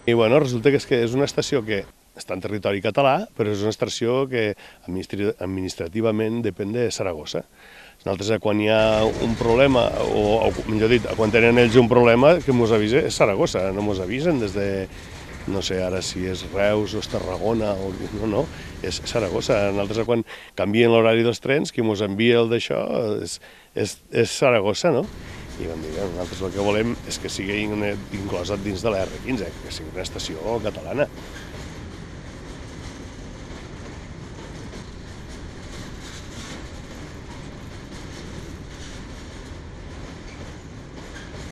I bueno, resulta que és una estació que està en territori català, però és una estació que administrativament depèn de Saragossa. Nosaltres, quan hi ha un problema, o millor dit, quan tenen ells un problema, que mos avisa és Saragossa, no mos avisen des de, no sé ara si és Reus o és Tarragona, no, és Saragossa. Nosaltres, quan canvien l'horari dels trens, qui mos envia el d'això és Saragossa, no? I vam dir, nosaltres el que volem és que sigui inclosa dins de la R15, que sigui una estació catalana.